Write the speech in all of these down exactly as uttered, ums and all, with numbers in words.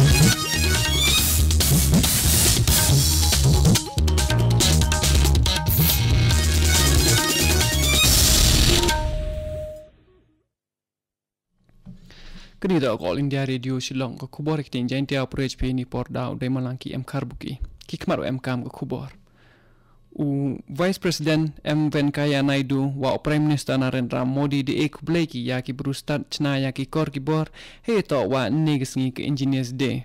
Kani da ka All India Radio Shillong, ka khubor ha ka ktien Jaiñtia, u pyrshah phi ni por da u Deimalangki M Kharbuki. Ki khmat u em kam ka khubor. U Vice President M Venkaiah Naidu wa u Prime Minister Narendra Modi da e khublei ki ya ki bru stad chna ya ki kor ki bor, hei to wa ne ka sngi ka Engineers Day.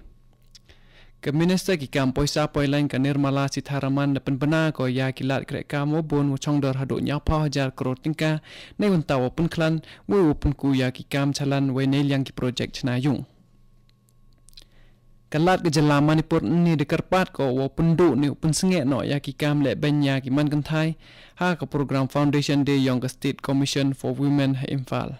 Ka Minister ki kam poisa poilain ka Nirmala Sitharaman da pynbna ko ya ki lad kreh kam wa bun wa chongdor haduh ñiaw phaw hajar kror tyngka, nei wynta wa pynkhlan, wei wa pynku ya ki kam chalan, wei nei liang ki project chna yung. Ka lad ka jylla Manipur ni da kyrpad ko wa pyndu ni pynsnge no ya ki kam leh beiñ ya ki man kynthai, ha ka program Foundation Day yong ka State Commission for Women ha Imphal.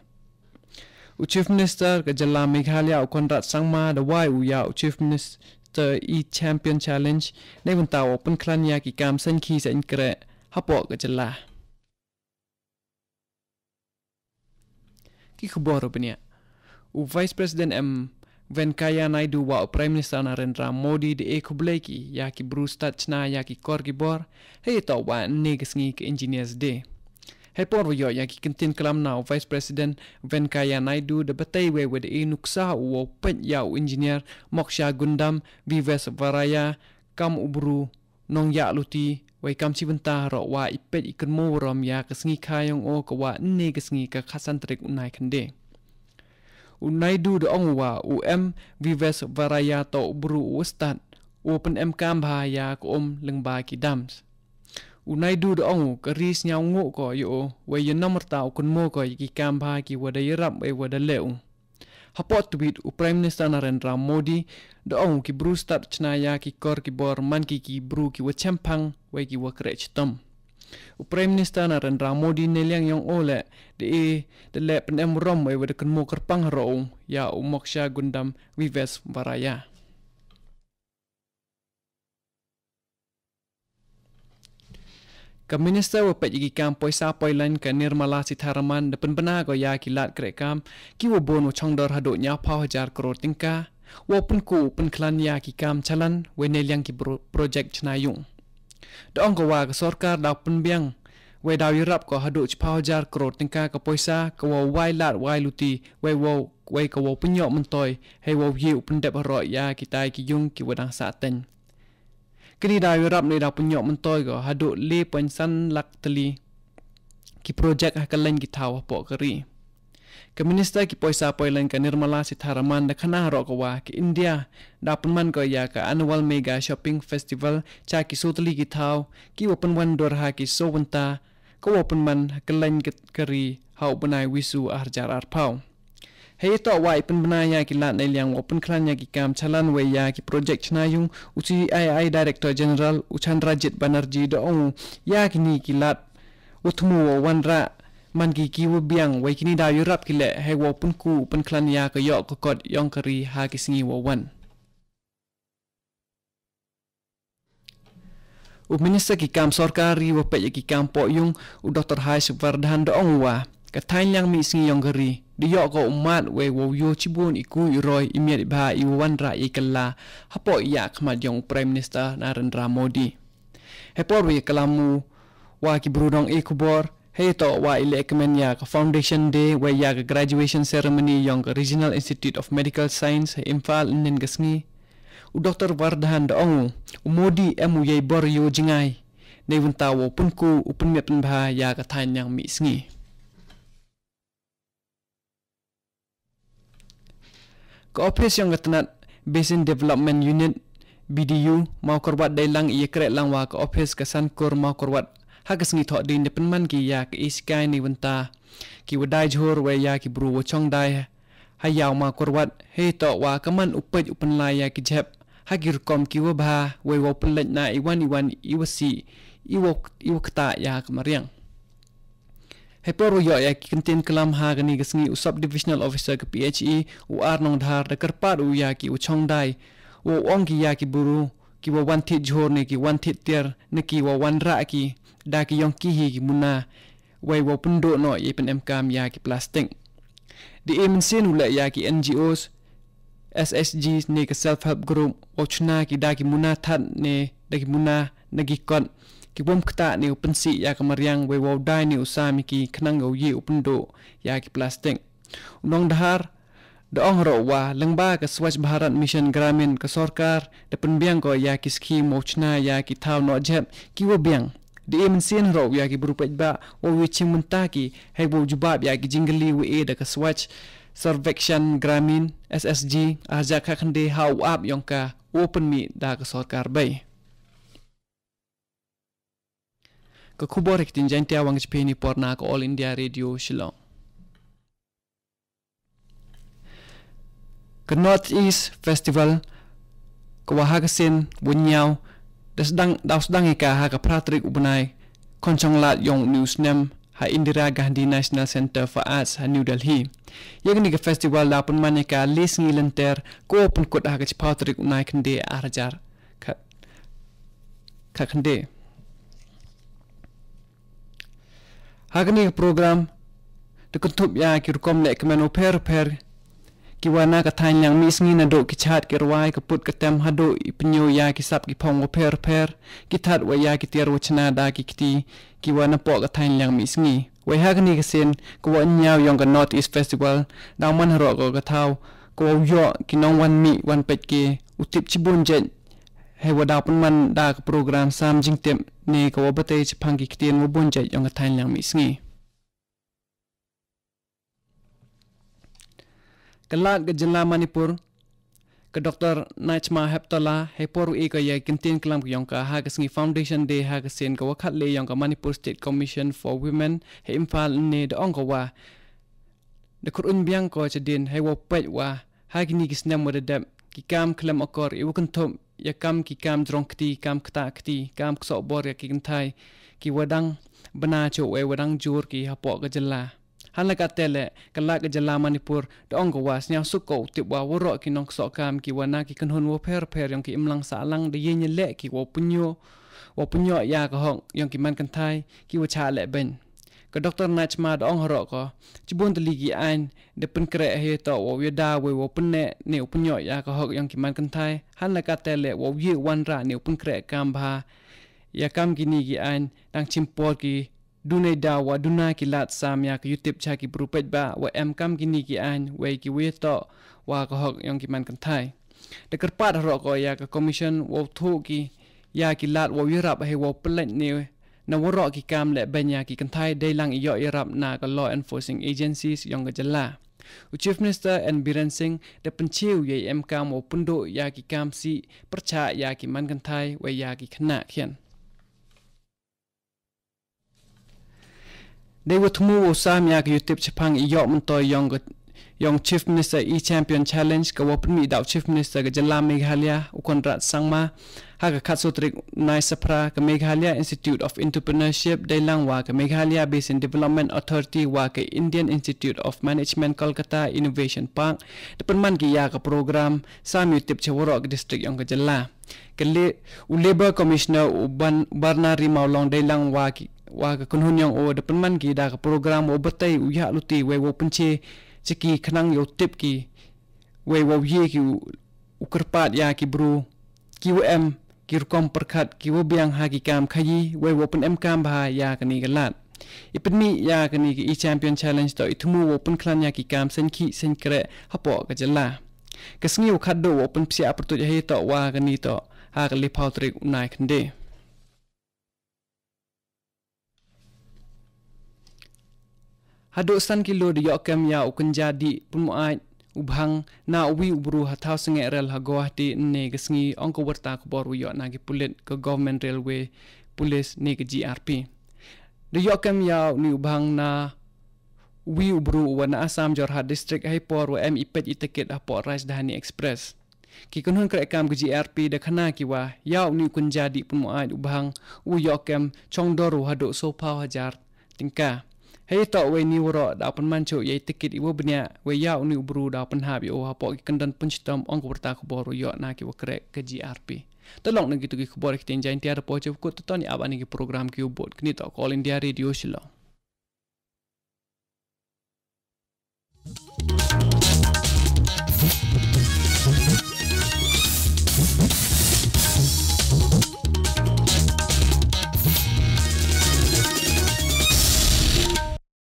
U Chief Minister ka jylla Meghalaya u Conrad Sangma da wai u ya u Chief Minister E Champion Challenge, nei wynta wa pynkhlan ya ki kam saiñ ki saiñ kreh hapoh ka jylla. Ki khubor u bniah. U Vice President M Venkaiah Naidu wa u Prime Minister Narendra Modi da e khublei ki ya ki bru stad chna ya ki kor ki bor, hei to wa ne ka sngi ka Engineers Day. Hei por wa yoh ya ki kyntien klam na u Vice President Venkaiah Naidu da batai wei wa da e nuksa u wa peit ya u engineer Moksha Gundam Vives Varaya kam u bru nong ya luti, wei kam chi bynta ro wa i peit i kynmo rom ya ka sngi kha yong o ka wa ne ka sngi ka khasan tarik u nai khynde. U Naidu da ong wa u M Vives Varaya to u bru u stad, u pyn em kam bha ya ka um lyngba ki dams. U Naidu da ong u ka ri sñiaw ngu ko yo o, wei ya namar ta u kynmo ko ya ki kam bha ki wa da yarap wei wa da leh u. Hapoh tweet u Prime Minister Narendra Modi da ong u ki bru stad chna ya ki kor ki bor man ki ki bru ki wa chemphang wei ki wa kreh chitom. U Prime Minister Narendra Modi ne liang yong o leh da e da leh pyn em rom wei wa da kynmo kyrpang ro u ya u Moksha Gundam Vives Varaya. Ka Minister wa peit ya ki kam poisa poilain ka Nirmala Sitharaman da pynbna ko ya ki lad kreh kam ki wa bun wa chongdor haduh ñiaw phaw hajar kror tyngka, wa pynku pynkhlan ya ki kam chalan wei ne liang ki bro-, project chna yung. Da ong ko wa ka sorkar da pynbiang wei da yarap ko haduh chiphaw hajar kror tyngka ka poisa ka wa wai lad wai luti wei wa wei ka wa pynyoh myntoi, hei wa ye u pyndep haroh ya ki tai ki yung ki wa dang sah teng. Kini da yarap ne da pynyoh myntoi ko haduh le point san lak tylli ki project ha ka lain ki thaw hapoh ka ri. Ka Minister ki poisa poilain ka Nirmala Sitharaman da khana haroh ka wa ka India da pynman ko ya ka Annual Mega Shopping Festival cha ki so tylli ki thaw ki wa pynwan dur ha ki so bynta ka wa pynman ha ka lain ka, ka ri ha u bnai Wisu ar hajar ar phaw. Hei to wa i pynbna ya ki lad ne liang wa pynkhlan ya ki kam chalan wei ya ki project chna yung, u C I I Director General u Chandrajit Banerjee da ong u ya kini ki lad wa thmu wa wanrah man ki ki wa biang wei kini da yarap ki leh hei wa pynku pynkhlan ya ka yoh ka kot yong ka ri ha ki sngi wa wan. U Minister ki kam sorkar ri wa peit ya ki kam poh yung, u Doktor Harsh Vardhan da ong u wa ka thaiñ liang mih sngi yong ka ri da yoh ko u mad wei wa u yoh chibun i ku i roi i miat i bha i wa wanrah i kylla hapoh ya khmat yong u Prime Minister Narendra Modi. Hei por wei ya kylla mu wa ki bru dong e khubor, hei to wa i leh kmen ya ka Foundation Day wei ya ka graduation ceremony yong ka Regional Institute of Medical Science ha Imphal ynnin ka sngi. U Doktor Vardhan da ong u, u Modi em u yei bor yoh jngai ne wynta wa pynku u pynmiat pynbha ya ka thaiñ liang mih sngi. Ka ophis yong ka tnat Basin Development Unit, B D U, Mawkyrwat dei lang i ya kreh lang wa ka ophis ka Sankur Mawkyrwat ha ka sngi Thohdieng da pynman ki ya ka e sikai ne wynta ki wa dai jhur wei ya ki bru wa chong dai ha yaw Mawkyrwat, hei to wa ka man u peit u pynlai ya ki jhep ha ki rukom ki wa bha wei wa pynleit na i wan i wan i wa si i wa, i wa kta ya ka mariang. Hei por wa yoh ya ki kyntien klam ha kani ka sngi, u Sub Divisional Officer ka P H E, u R Nongdhar, da kyrpad u ya ki wa chong dai wa ong ki ya ki bru ki wa wan thied jhur ne ki wan thied tiar ne ki wa wanrah ki da ki yong ki hi ki muna wei wa pynduh noh ya i pyn em kam ya ki plastik. Da e mynsiem u leh ya ki N G Os S H G ne ka self help group, wow chna ki da ki muna thad ne da ki muna na ki kot, ki bym ktah ne u pynsih ïa ka mariang, wei wow dai ne u sam ïa ki khnang wow ïeh u pynduh ïa ki plastik. U nongdhar da ong ruh wa lyngba ka Swachh Bharat Mission Gramin, ka sorkar da pynbiang ko ïa ki skhim wow chna ïa ki thaw noh jhep ki wa biang. Da e mynsiem ruh ïa ki bru paidbah wow ïa chim mynta ki, hei wow jubab ïa ki jingkylli wa e da ka Swachh Survekshan Gramin, S S G, arja ka khynde ha u app yong ka u pynmih da ka sorkar bei. Ka khubor ha ka ktien Jaiñtia wa ngi shipheini por na ka All India Radio Shillong. Ka North East Festival, ka wa ha ka sien wa ñiaw, da sdang, da sdang ïa ka ha ka phra tarik u bnai Khonchonglad yong u snem ha Indira Gandhi National Centre for Arts ha New Delhi. Ïa kani ka festival da pynman ïa ka le sngi lynter, ko pynkut ha ka chiphaw tarik u nai khynde arhajar khat, khat khynde. Ha kani ka program da kynthup ïa ki rukom leh kmen wa pher pher ki wa na ka thaiñ liang mih sngi, naduh ki chad ki rwai, ka put ka tem haduh i pynïoh ïa ki sap ki phong wa pher pher, ki thad wa ïa ki tiar wa chna da ki kti ki wa na poh ka thaiñ liang mih sngi. Wei ha kani ka sien ka wa ñiaw yong ka North East Festival da man haroh ka, ka thaw ka wa ïoh ki nongwan mih wan peit ki u tip chibun jait, hei wa da pynman da ka program sam jingtip ne ka wa batai chaphang ki ktien wa bun jait yong ka thaiñ liang mih sngi. Ka Lat ka jylla Manipur, ka Doctor Najma Heptola, hei por u e ka ïa ki ktien klam ka yong ka ha ka sngi Foundation Day ha ka sien ka wa khatle yong ka Manipur State Commission for Women ha Imphal ne da ong ka wa da khur un biang ko chadien hei wa peit wa ha kini ki snem wa da dep ki kam khlem akor i wa kynthup ïa kam ki kam jrong kti, kam ktah kti, kam ksoh bor ïa ki kynthai ki wa dang bna choh wei wa dang jur ki hapoh ka jylla. Hanla ka tele, ka Lat ka jylla Manipur da ong ka wa sniaw suk ko u tip wa waroh ki nongksoh kam ki wa na ki kynhun wa pher pher yong ki imlang sahlang da ïeng ïa leh ki wa pynïoh, wa pynïoh ïa ka hok yong ki man kynthai ki wa chah leh beiñ. Ka Doctor Najma da ong haroh ko chibun tylli ki aiñ da pynkhreh hei to wa ïada wei wa pynneh ne u pynïoh ïa ka hok yong ki man kynthai, hanla ka tele wa ïeh wanrah ne u pynkhreh kam bha ïa kam kini ki aiñ, dang chim por ki duna da wa duna ki lad sam ïa ka yutip cha ki bru paidbah wa em kam kini ki aiñ wei ki wa ïa to wa ka hok yong ki man kynthai. Da kyrpad haroh ko ïa ka Commission wa u thuh ki ïa ki lad wa u ïarap hei wa u pynlait ne na waroh ki kam leh beiñ ïa ki kynthai dei lang i ïoh ïarap na ka law enforcing agencies yong ka jylla. U Chief Minister N Biren Singh da pynchiew ïa i em kam wa u pynduh ïa ki kam sih pyrchah ïa ki man kynthai wei ïa ki khynnah khian. Dei wa thmu wa u sam ïa ka yutip chaphang i ïoh myntoi yong ka, yong Chief Minister E-Champion Challenge ka wa pynmih da u Chief Minister ka jylla Meghalaya u Conrad Sangma ha ka khatsaw tarik u nai Saphra. Ka Meghalaya Institute of Entrepreneurship dei lang wa ka Meghalaya Basin Development Authority wa ka Indian Institute of Management Kolkata Innovation Park da pynman ki ïa ka program sam yutip cha waroh ka district yong ka jylla. Ka le, u Labour Commissioner u Ban-, Barnari Mawlong dei lang wa ki, wa ka kynhun yong u da pynman ki da ka program wa u batai u ïa luti wei wa u pynche cha ki khnang ïa u tip ki wei wa u ïeh ki u, u kyrpad ïa ki bru ki wa em ki rukom pyrkhat ki wa biang ha ki kam khaïi wei wa u pynem kam bha ïa kani ka lad. I pynmih ïa kani ka E-Champion Challenge to i thmu wa u pynkhlaiñ ïa ki kam seng khih seng khreh hapoh ka jylla. Ka sngi wa khatduh wa u pynpsiah pyrtuit hei to wa kani to ha ka le phaw tarik u nai khynde. Haduh san kilo da ïoh kem ïa u kynja dih pynmuaid u bhang na u wi u bru ha thaw sngeh rel ha Guwahati ne ka sngi, ong ka warta khubor wa ïoh na ki pulit ka Government Railway Police ne ka G R P. Da ïoh kem ïa u ni u bhang na u wi u bru wa na Assam Jorhat District hei por wa em i peit i ticket hapoh Rajdhani Express. Ki kynhun khreh kam ka G R P da khana ki wa ïa u ni u kynja dih pynmuaid u bhang u ïoh kem chong dor u haduh sawphaw hajar tyngka. Hei to wei ni waroh da pynman chuh ïa i ticket i wa bniah wei ïa u ni u bru da pynhap ïa u hapoh ki kyndon pynshitom, ong ka warta khubor wa ïoh na ki wa khreh ka G R P. Talok na ki tu ki khubor ki ktien Jaiñtia da poi chuh kut, to ni ap ani ki program ki u bud kini to ka All India Radio Shillong.